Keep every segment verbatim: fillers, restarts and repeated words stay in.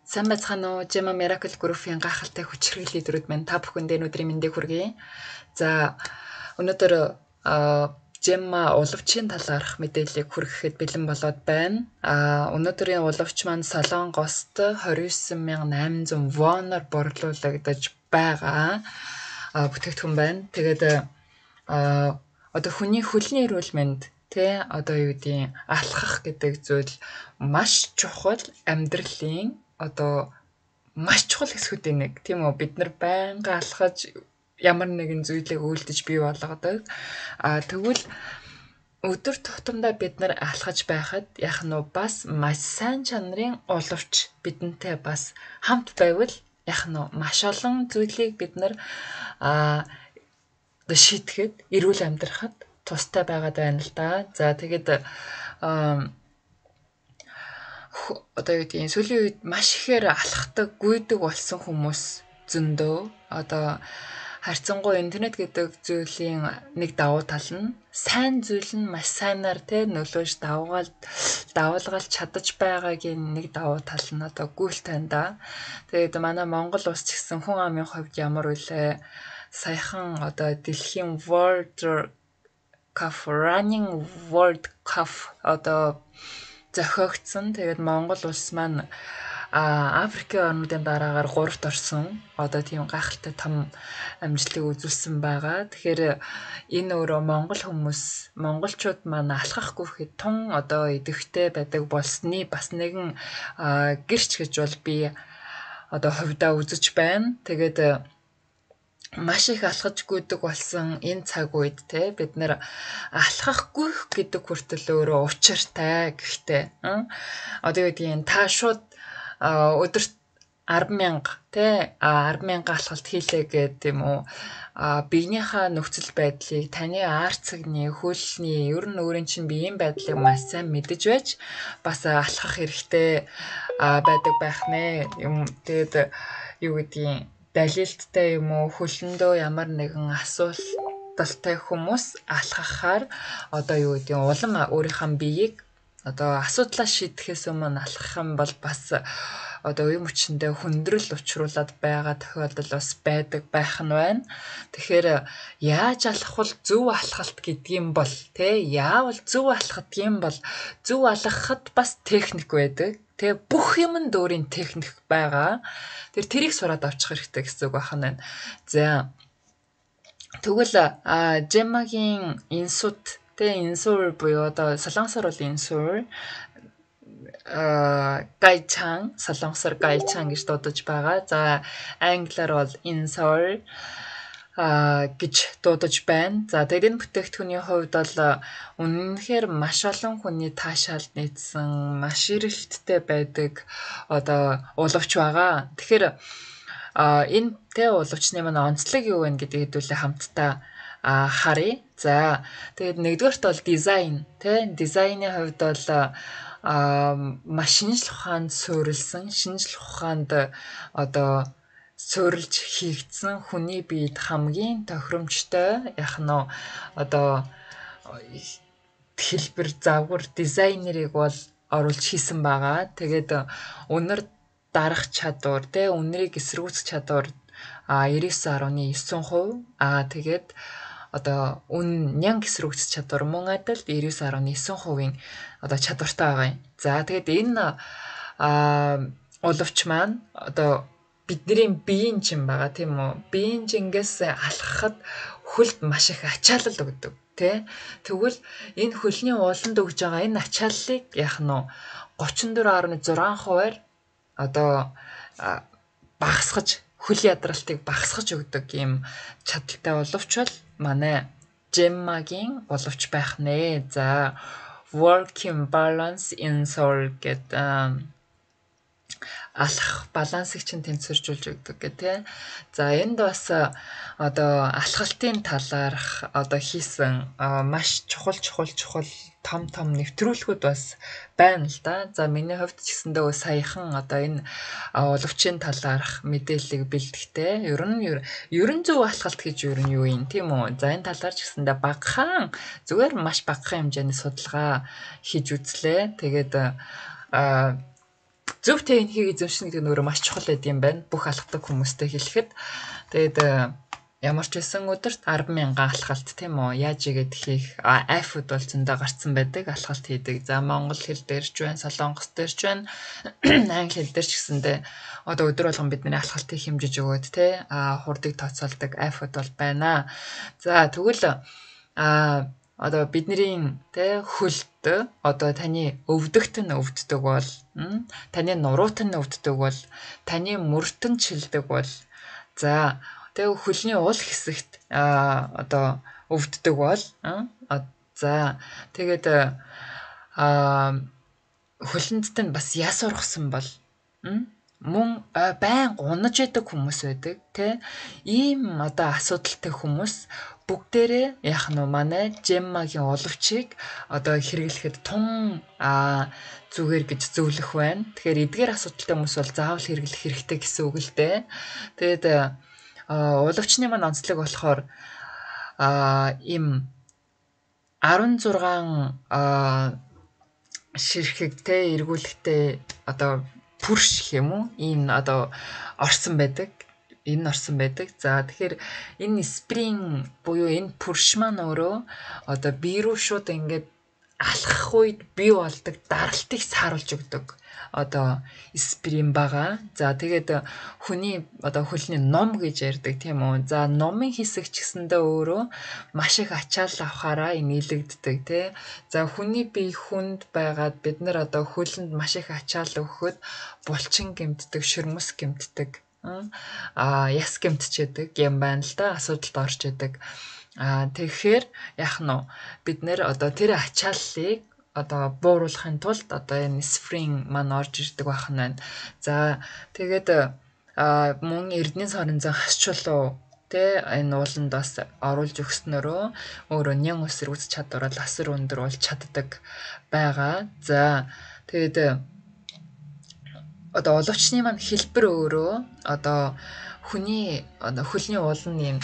Сайн байцгаана уу? Gemma Miracle Group-ийн гайхалтай хүчрхийлэл лидерүүд маань та бүхэндээ өнөөдрийн мэндийг хүргэе. За өнөөдөр Gemma уловчийн талаарх мэдээллийг хүргэхэд бэлэн болоод байна. А өнөөдрийн уловч маань Солонгост двадцать девять thousand eight hundred воноор борлуулагдаж байгаа бүтээгдэхүүн байна. Тэгээд а одоо хүний хөлний эрүүл мэнд тэ одоо юу гэдгийг алхах гэдэг зүйл маш чухал амьдралын одоо маш чухал хэсгүүдийн нэг тийм үү, бид нар байнга алхаж ямар нэгэн зүйлийг үйлдэж бий болгодог. А тэгвэл өдөр тутамдаа бид нар алхаж байхад яг нь бас маш сайн чанарын уловч бидэнтэй бас хамт байвал яг нь маш олон зүйлийг бид нар а шийдэхэд эрүүл амьдрахад тустай байгаад байна л да. За тэгээд одоо юу гэдгийг сүүлийн үед маш ихээр алхахдаг, гүйдэг болсон хүмүүс зөндөө. Одоо харьцангуй интернет гэдэг зүйлийн нэг давуу тал нь сайн зүйл нь маш сайнаар тэ нөлөөж давгаал давуулгалж чадаж байгаагийн нэг давуу тал нь одоо гүйлт байна да. Тэгээд манай Монгол улс ч гэсэн хүн амын хувьд ямар үлээ саяхан одоо дэлхийн World Cup Running World Cup одоо зохиогдсон. Тэгээд Монгол улс маань а Африкийн орнуудын дараагаар гуравт орсон. Одоо тийм гайхалтай том амжилтыг үзүүлсэн байгаа. Тэгэхээр энэ өөрөө монгол хүмүүс, монголчууд маань алхахгүй гэхэд тун одоо идэвхтэй байдаг болсны бас нэгэн гэрч гэж бол би одоо хувьдаа үзэж байна. Тэгээд маш их алхаж гүйдэг болсон энэ цаг үед те бид нэр алхахгүй гэдэг хүртэл өөрөө учиртай. Гэхдээ одоо юу гэдгийг та шууд өдөрт арван мянга те арван мянга алхалт хийлээ гэдэг юм уу, биенийхээ нөхцөл байдлыг, таны ар цагны, хөлний ер нь өөрийн чинь биеийн байдлыг маш сайн мэдэж байж бас алхах хэрэгтэй байдаг байх нэ. Юм тэгээд юу гэдгийг далилттай юм уу, хөлөндөө ямар нэгэн асуудалтай хүмүүс алхахаар одоо юу гэдэг нь улам өөрийнхөө биеийг одоо асуудлаа шийдэхээс өмнө алхах юм бол бас одоо үе мөчөндөө хүндрэл учруулад байгаа тохиолдол бас байдаг байх нь байна. Тэгэхээр яаж алхах зөв алхалт гэдгийм бол тэ яавал зөв алхах гэдгийм бол зөв алхахад бас техник байдаг. Тэ бүх юмд өөрийн техник байгаа. Тэр тэрийг сураад авчих хэрэгтэй гэсэн үг байна. За тэгвэл Gemma-гийн инсут тэ инсур буюу одоо солонгосоор бол инсур а гайчан, солонгосоор гайчан гэж дуудаж байгаа. За англиар бол инсур а гэж дуудаж байна. За тэгээд энэ бүтээгдэхүүний хувьд бол үнэнхээр маш олон хүний таашаалд нийцсэн, маш эрэлттэй байдаг одоо уловч байгаа. Тэгэхээр а энэ тэ уловчны манай онцлог юу вэ гэдэг хэдүүлээ хамтдаа харъя. За тэгээд нэгдүгээрт бол дизайн тэ дизайны хувьд бол а маш шинжлэх ухаанд суурилсан, шинжлэх ухаанд одоо суурилж хийгдсэн хүний биед хамгийн тохиромжтой яг нь одоо хэлбэр завгар дизайнерыг бол оруулж хийсэн байгаа. Тэгээд үнэр дарах чадвар тэ үнэрийг эсэргүүцэх чадвар а девять ноль нine а тэгээд одоо үн нянг эсрэгцэх чадвар мөн адил девять ноль нine одоо чадвартай байгаа юм. За тэгээд энэ а уловч маань одоо бидний биеийн чин байгаа тийм үү? Биеийн чингээс алхахад хөлд маш их ачаалал өгдөг тий. Тэгвэл энэ хөлний ууланд өгж байгаа энэ ачааллыг яах нь thirty-four point six хувиар одоо багасгаж хөл ядралтыг багасгаж өгдөг юм чадaltaй уловч бол манай Gemma-гийн уловч байх нэ. За working balance in soul гэдэг алхах балансыг чинь тэнцвэржүүлж өгдөг гэх тээ. За энд бас одоо алхалтын талаарх одоо хийсэн маш чухал чухал чухал том том нэвтрүүлгүүд бас байна л да. За миний хувьд ч гэсэндээ саяхан одоо энэ уловчийн талаарх мэдээллийг бэлтгэхдээ ер нь ер нь зөв алхалт гэж ер нь юу юм тийм үү? За энэ талаар ч гэсэндээ багахан зүгээр маш багахан хэмжээний судалгаа хийж үзлээ. Тэгээд зөв техникийг эзэмшнэ гэдэг нь өөрөө маш чухал байд юм байна. Бүх алхдаг хүмүүстэй хэлэхэд. Тэгээд ямар ч байсан өдөрт арван мянган алхалт тийм үү? Яаж игээд хийх айфуд бол зөндөө гарцсан байдаг. Алхалт хийдэг. За монгол хэл дээр ч байна, солонгос дээр ч байна, англи хэл дээр ч гэсэндээ одоо өдөр болгон бидний алхалтыг хэмжиж өгөөд те а хурдыг тооцоолдог айфуд бол байна. За тэгвэл а одоо бидний те хөлд одоо таны өвдөгт нь өвддөг бол таны нуруут нь өвддөг бол таны мөрт нь чилдэг бол за тэгээ хөлний уул хэсэгт а одоо өвддөг бол за тэгээд а хөлөнд нь бас яс ургасан бол мөн байн унаж байдаг хүмүүс байдаг те ийм одоо асуудалтай хүмүүс бүгдээрээ яах нь манай Gemma-гийн оловчийг одоо хэрэглэхэд тун а зүгээр гэж зөвлөх байна. Тэгэхээр эдгээр асуудалтай хүмүүс бол заавал хэрэглэх хэрэгтэй гэсэн үг л дээ. Тэгээд уловчны маань онцлог болохоор а им арван зургаан а ширхэг те эргүүлэхтэй одоо пүрш гэх юм уу? Энэ одоо орсон байдаг. Энэ орсон байдаг. За тэгэхээр энэ спринг буюу энэ пүрш маань өөрөө одоо бие рүү шууд ингээд алхах үед бий болдог даралтыг сааруулж өгдөг. Одоо спринг байгаа. За тэгээд хүний одоо хөлний ном гэж ярьдаг тийм үү. За номын хэсэг ч гэсэндээ өөрөө маш их ачаал авахаараа нийлэгддэг тий. За хүний бие хүнд байгаад бид нар одоо хөлөнд маш их ачаал өгөхөд булчин гэмтдэг, шөрмөс гэмтдэг, а яс гэмтчихэд юм байна л да. Асуудалд орж идэг. А тэгэхээр яах нь бид нэр одоо тэр ачааллыг одоо бууруулахын тулд одоо энэ спринг маань орж ирдэг байх нь байна. За тэгээд мөн эрдэнэ сорон зан хасчулуу тэ энэ ууланд бас оруулж өгснөрөө өөрөө нян өсөр үз чадвар бол асар өндөр болж чаддаг байгаа. За тэгээд одоо оловчны маань хэлбэр өөрөө одоо хүний одоо хөлний уулын юм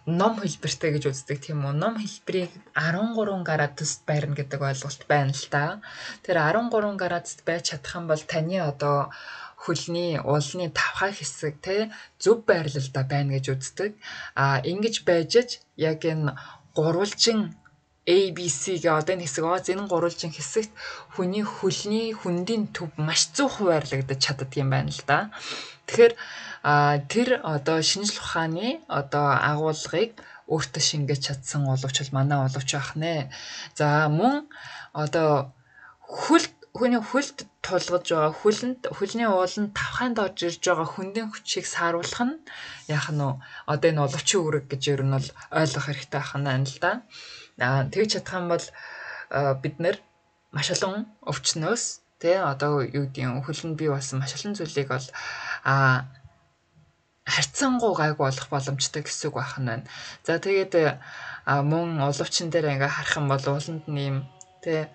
ном хэлбэртэй гэж үздэг тийм үү. Ном хэлбэрийг арван гурван градуст байрна гэдэг ойлголт байна л да. Тэр арван гурван градуст байж чадах юм бол таны одоо хөлний уулны тавхай хэсэг те зөв байрлалда байна гэж үздэг. А ингэж байж яг энэ гурвалжин A B C гээ одоо энэ хэсэг аа энэ гурвалжин хэсэгт хүний хөлний хүндийн төв маш зөв хуваарлагдаж чаддаг юм байна л да. Тэгэхээр а тэр одоо шинжлэх ухааны одоо агуулгыг өөртөө шингээж чадсан оловч бол манай оловч байх нэ. За мөн одоо хөлт хүний хөлд тулгаж байгаа хөлөнд хөлний ууланд тавхайнд орж ирж байгаа хүндийн хүчийг сааруулах нь яах нь одоо энэ оловчийн үүрэг гэж ер нь бол ойлгох хэрэгтэй байх нь байна л да. Аа тэгж чадах юм бол бид нэр маш олон өвчнөөс тэ одоо юу гэдгийг хөлөнд бий болсон маш олон зүйлийг бол а харьцангуй гайгүй болох боломжтой гэсэн үг байх нь байна. За тэгээд мөн оловчин дээр ингээ харах юм бол ууланд нэм тэ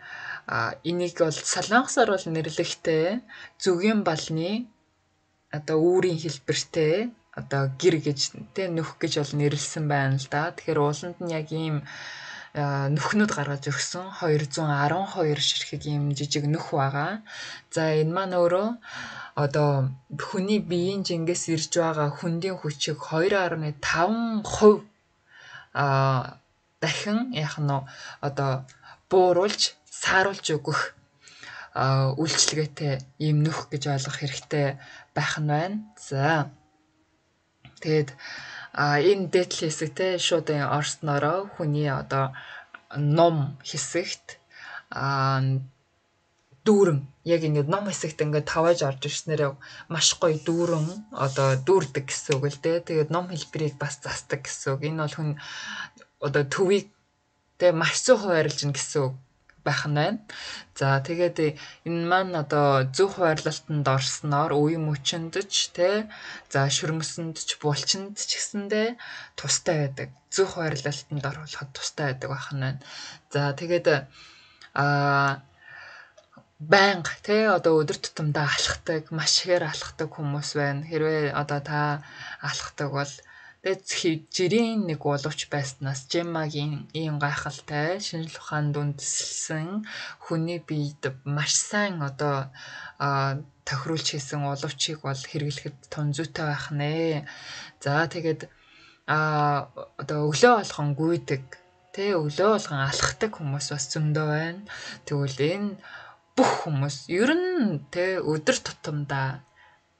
а энийг бол солонгосоор бол нэрлэхдээ зүгийн балны одоо үүрийн хэлбэртэй одоо гэр гэж тэ нөх гэж бол нэрлсэн байна л да. Тэгэхээр ууланд нь яг ийм нөхнүүд гаргаж өгсөн хоёр зуун арван хоёр ширхэг ийм жижиг нөх байгаа. За энэ маань өөрөө одоо хүний биеийн жингээс ирж байгаа хүндийн хүчийг хоёр гаруй таван хувь а дахин яах нь одоо бууруулж сааруулж өгөх үйлчлэгээтэй ийм нөх гэж ойлгох хэрэгтэй байх нь байна. За тэгээд а энэ дээдл хэсэг те шууд орснороо хүний одоо ном хэсэгт а дүүрэн яг ингэ ном хэсэгт ингээд тавааж орж ирснээр маш гоё дүүрэн одоо дүүрдэг гэсэн үг л дээ. Тэгээд ном хэлбэрийг бас засдаг гэсэн үг. Энэ бол хүн одоо төвийг тэ маш зөв хуваарлж ин гэсэн үг байх нь байна. За тэгээд энэ маань одоо зөв хуваарлалтанд орсноор үе мөчөнд ч тэ за шөрмөсөнд ч булчинд ч гэсэндээ тустай байдаг. Зөв хуваарлалтанд оруулахад тустай байдаг байх нь байна. За тэгээд а банг тэ одоо өдөр тутамдаа алхдаг, маш ихээр алхдаг хүмүүс байна. Хэрвээ одоо та алхдаг бол тэгээд жирийн нэг боловч байснаас Gemma-гийн ийм гайхалтай шинжлэх ухаанд үндэслэн хүний биед маш сайн одоо тохируулж хийсэн уловчийг бол хэрэглэхэд тун зүйтэй байх нэ. За тэгээд а одоо өглөө болгон гүйдэг тэ өглөө болгон алхахдаг хүмүүс бас зөндөө байна. Тэгвэл энэ бүх хүмүүс ер нь тэ өдөр тутамдаа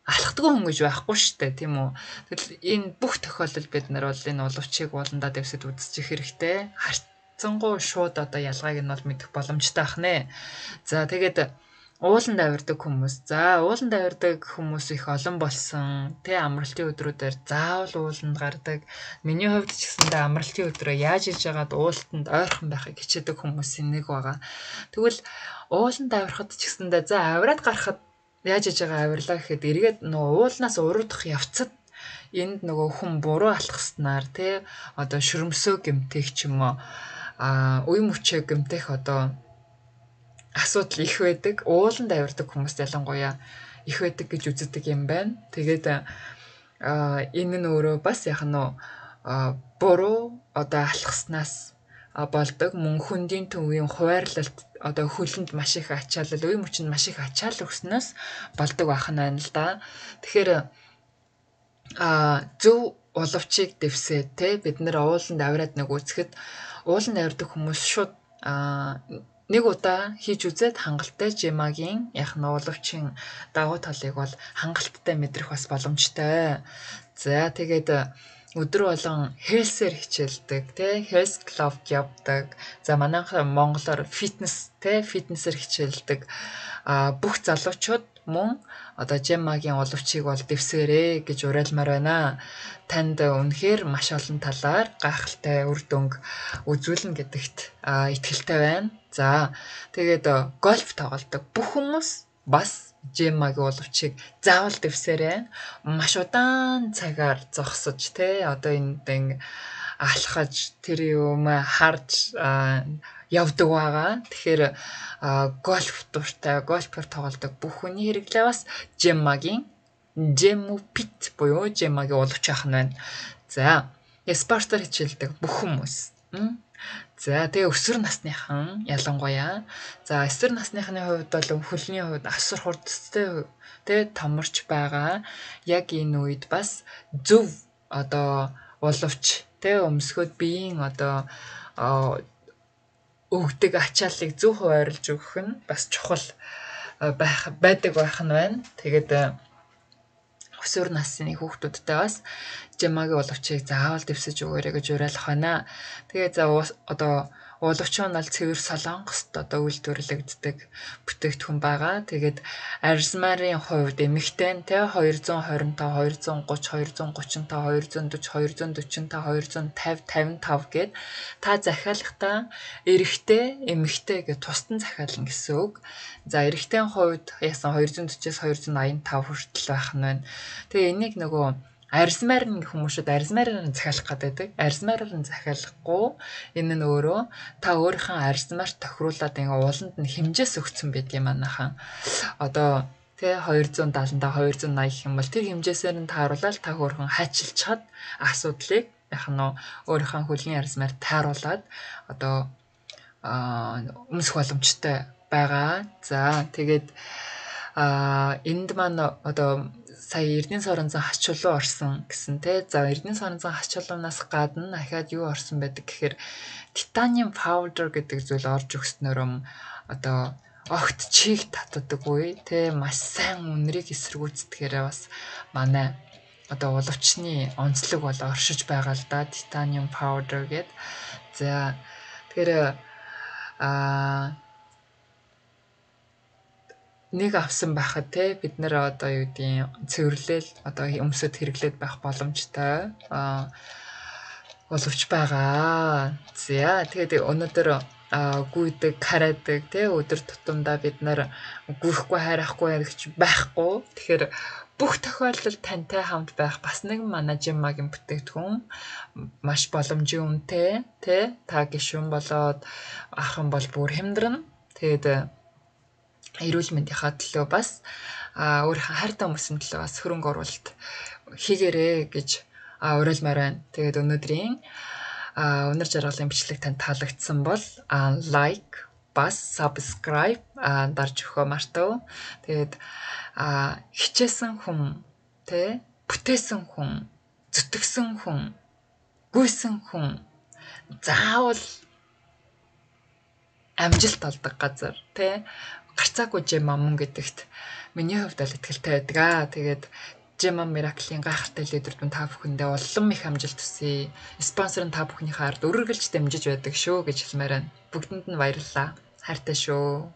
алхдаг хүн гэж байхгүй шүү дээ, тийм үү? Тэгэл энэ бүх тохиолдолд бид нар бол энэ уловчийг ууландаа дэвсэд үзчих хэрэгтэй. Харцангуй шууд одоо ялгааг нь бол мэдэх боломжтой ах нэ. За тэгээд ууланд авирдаг хүмүүс. За ууланд авирдаг хүмүүс их олон болсон. Тэ амралтын өдрүүдээр заавал ууланд гардаг. Миний хувьд ч гэсэндээ амралтын өдрөө яаж иж яагаад уултанд ойрхон байхыг хичээдэг хүмүүсийн нэг байгаа. Тэгвэл ууланд авирахад ч гэсэндээ за авираад гарахад яаж иж байгаа авирлаа гэхэд эргээд нөгөө уулнаас уруудах явцад энд нөгөө хүн буруу алхаснаар тий одоо шүрмсөө гэмтэх ч юм уу а үе мөчөө гэмтэх одоо асуудал их байдаг. Ууланд авирдаг хүмүүст ялангуяа их байдаг гэж үздэг юм байна. Тэгээд а энэ нь өөрөө бас яг нь буруу одоо алхаснаас болдог мөн хүндийн төвийн хуваарлалт одоо хөлөнд маш их ачаалал, үе мөчөнд маш их ачаалал өгснөөс болдог байх нь байна л да. Тэгэхээр а зөв уловчийг дэвсээ те бид нэр ууланд авираад нэг үзэхэд ууланд авирдаг хүмүүс шууд а нэг удаа хийж үзээд хангалттай жимагийн яг нь уловчийн давуу талыг бол хангалттай мэдрэх бас боломжтой. За тэгээд өдөр болгон хелсээр хичээлдэг тий хелс клуб явдаг. За манайхан монголоор фитнес тий фитнесээр хичээлдэг а бүх залуучууд мөн одоо жимагийн уловчийг бол дэвсгэрээ гэж уриалмаар байна. Танд үнэхээр маш олон талаар гайхалтай үр дүнг үзүүлнэ гэдэгт итгэлтэй байна. За тэгээд гольф тоглодог бүх хүмүүс бас жимагийн уловчийг заавал дэвсээрэй. Маш удаан цагаар зогсож те одоо энд алхаж тэр юм харж явдаг байгаа. Тэгэхээр гольф дуртай, гольфер тоглодог бүх хүний хэрэглээ бас жимагийн жемупит буюу жимагийн уловч ах нь байна. За спортоор хичээлдэг бүх хүмүүс. За тэгээ өсвөр насныхан ялангуяа за өсвөр насныхны хувьд бол хөлний хувьд асар хурдтай тэгээ томорч байгаа. Яг энэ үед бас зөв одоо уловч тэгээ өмсгөөд биеийн одоо өгдөг ачааллыг зөв хуваарлж өгөх нь бас чухал байх байдаг байх нь байна. Тэгээд өсвөр насны хүүхдүүдтэй бас жимагийн уловчийг заавал дэвсэж өгөөрэй гэж уриалах байна. Тэгээ за одоо уловч нь бол цэвэр солонгост одоо үйлдвэрлэгддэг бүтээгдэхүүн байгаа. Тэгээд арзмарын хувьд эмэгтэй нь тэ хоёр зуун хорин таван, хоёр зуун гуч, хоёр зуун гучин таван, хоёр зуун дөрвөн, хоёр зуун дөрвөн таван, хоёр зуун тавин, тавин тав гэд та захиалахдаа эрэгтэй, эмэгтэй гэж тусдан захиална гэсэн үг. За эрэгтэйн хувьд яасан хоёр зуун дөрвөөс хоёр зуун аян тав хүртэл байх нь байна. Тэгээ энийг нөгөө арзмаар нь хүмүүсд арзмаараар нь захиалах гэдэг. Арзмаараар нь захиалахгүй энэ нь өөрөө та өөрийнхөө арзмаар тохируулаад ингээ ууланд нь хэмжээс өгсөн байдаг юм анахан. Одоо тэ хоёр зуун даатан та хоёр зуун аяг юм бол тэр хэмжээсээр нь тааруулаад та хөөрхөн хачилж чад асуудлыг яг нь өөрийнхөө хөлний арзмаар тааруулаад одоо өмсөх боломжтой байгаа. За тэгээд а энд маань одоо сая Эрдэнэ сорон зан хач чулуу орсон гэсэн те. За Эрдэнэ сорон зан хач чулуунаас гадна ахаад юу орсон байдаг гэхээр титаниум powder гэдэг зүйл орж өгснөөр одоо огт чийг татдаггүй те маш сайн үнэрийг эсэргүүцдэхээр бас манай одоо уловчны онцлог бол оршиж байгаа л да титаниум powder гэд. За тэгэхээр а нэг авсан байхад те бид нэр одоо юу гэдгийг цэвэрлэл одоо өмсөд хэрэглээд байх боломжтой а боловч байгаа. За тэгээд өнөөдөр гүйдэг, караадаг те өдөр тутамдаа бид нар гүйхгүй харахгүй гэж байхгүй. Тэгэхээр бүх тохиолдолд тантай хамт байх бас нэг манай жимагийн бүтээгдэхүүн маш боломжийн үнэтэй те та гишүүн болоод ахын бол бүр хямдрна. Тэгээд эрүүл мэндийнхаа төлөө бас өөрийнхөө хайртай хүмүүсийн төлөө бас хөрөнгө оруулалт хийгээрэй гэж уриалмаар байна. Тэгээд өнөөдрийн өнөр жаргалын бичлэг танд таалагдсан бол лайк, бас subscribe а дарж өгөө мартав. Тэгээд а хичээсэн хүн, тэ бүтээсэн хүн, зүтгэсэн хүн, гүйсэн хүн заавал амжилт олдог газар, тэ гарцаагүй жима мөн гэдэгт миний хувьд л итгэлтэй байдаг аа. Тэгээд Жима Miracle-ийн гайхалтай лидерүүд та бүхэндээ улам их амжилт хүсье. Спонсор нь та бүхнийхээ ард өргөлж дэмжиж байдаг шүү гэж хэлмээр байна. Бүгдэнд нь баярлалаа. Хайртай шүү.